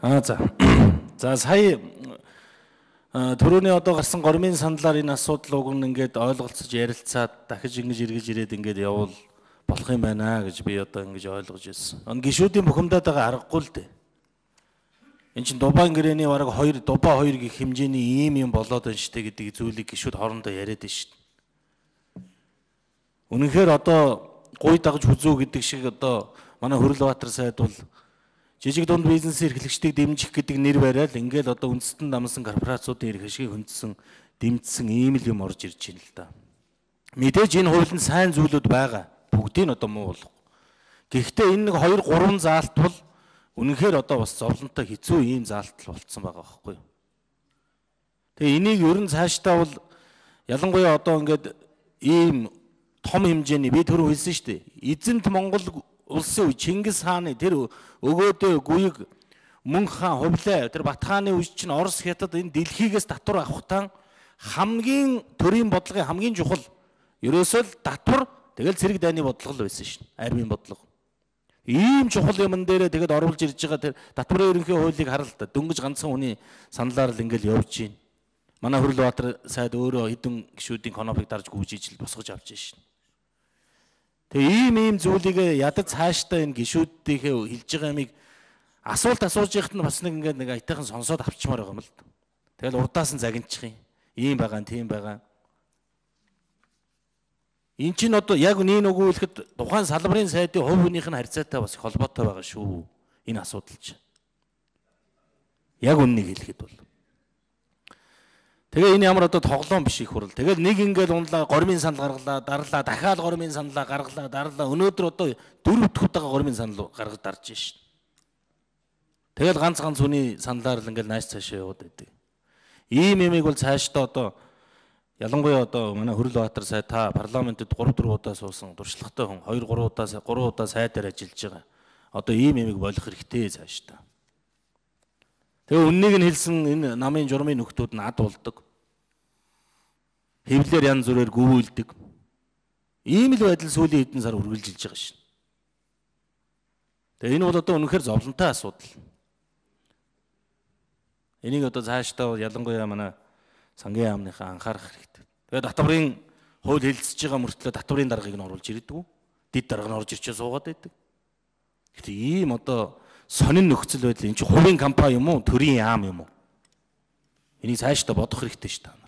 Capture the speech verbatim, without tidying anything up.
Аа за. За сая түрүүний одоо гарсан гормын саналаар энэ асуудал уг нь ингээд ойлголцож ярилцаад дахиж ингэж эргэж ирээд ингээд явуул болох юм байна гэж би одоо ингэж ойлгож ирсэн. Энэ гишүүдийн бухимдаад байгаа аргагүй л дээ. Энд чинь Дубайн гэрээний бараг хоёр Дубай хоёр гих хэмжээний ийм юм болоод байна штэ гэдэг зүйлийг гишүүд хоорондоо яриад байна штэ. Үнэнхээр одоо гуй дагж хүзүү гэдэг шиг одоо манай Хөрлөбаатар сайд бол жижиг дунд бизнесийн эрхлэгчдийг дэмжих гэдэг нэр бариад ингээл одоо үндэстэн намсан корпорациудын эрх ашгийг хөндсөн дэмжсэн ийм л юм орж ирж байна л да. Мэдээж энэ хуулинд сайн зүйлүүд байгаа. Бүгдийг нь одоо муу болох. Гэхдээ энэ нэг хоёр гурван заалт бол үнэнхээр одоо бас зовлонтой хэцүү ийм заалтал болцсон байгаа байхгүй юу. Тэгээ энийг ер нь цаашдаа бол ялангуяа одоо ингээд ийм том хэмжээний би түрүү хэлсэн шүү дээ. Эзэнт Монгол улсын үе Чингис хааны тэр өгөөдөө гүйг Мөнх хаан хувлаа тэр Бат хааны үе чинь Орос хятад энэ дэлхийгээс татвар авахтан хамгийн төрийн бодлогын хамгийн чухал ерөөсөө л татвар тэгэл цэрэг дайны бодлого л байсан шин. Армийн бодлого. Ийм чухал юмн дээрээ тэгэд оруулж ирж байгаа тэр татварын ерөнхий хуулийг харал та дөнгөж ганцхан хүний саналаар л ингээл явж байна. Манай Хөрлөбаатар сайд өөрөө хэдэн гишүүдийн конопыг дарж гүйжиж л босгож авч шин. Тэгээ ийм ийм зүйлийг ядаж цаашдаа энэ гишүүдийнхээ хэлж байгаа юмыг асуулт асууж яхад нь бас нэг ингээд нэг айтайхан сонсоод авчмаар байгаа юм л. Тэгэл урдаас нь загинчих юм. Ийм байгаа, тийм байгаа. Энд чинь одоо яг нэг нөгөөлөхөд тухайн салбарын сайдын хувь хүнийх нь харьцаатай бас их холбоотой байгаа шүү. Энэ асуудал чинь. Яг үннийг хэлэхэд бол. Тэгээ энэ ямар одоо тоглоом биш их хурал. Тэгэл нэг ингээд унлаа гормын санал гаргалаа, дарлаа, дахиад гормын саналаа гаргалаа, дарлаа. Өнөөдөр одоо дөрөв дэх удаага гормын санал гаргаж дарж шин. Тэгэл ганц ганц хүний саналаар л ингээд нааш цаашаа яваад байдаг. Ийм юмыг бол цаашдаа одоо ялангуяа одоо манай Хөрлөбаатар сайд та парламентэд гурав дөрөв удаа суусан туршлагатай хүн хоёр гурав удаа гурав удаа сайдаар ажиллаж байгаа. Одоо ийм юмыг болох хэрэгтэй цаашдаа. Тэгээ үннийг нь хэлсэн энэ намын журмын нөхдүүд нь ад болдог. Хэвлэлээр янз бүрээр гүйүүлдэг. Ийм л байдал сүүлийн хэдэн сар үргэлжилж байгаа шин. Тэгээ энэ бол одоо үнэхээр зовлонтой асуудал. Энийг одоо цаашдаа ялангуяа манай сангийн яамныхаа анхаарах хэрэгтэй. Тэгээ татварын хууль хэлэлцэж байгаа мөртлөө татварын даргаыг нь оруулж ирдэг. Дид дарга нь орж ирчээ суугаад байдаг. Гэтэ ийм одоо сонин нөхцөл байдал энэ чинь хувийн компани юм уу, төрийн яам юм уу? Энийг цаашдаа бодох хэрэгтэй шүү дээ.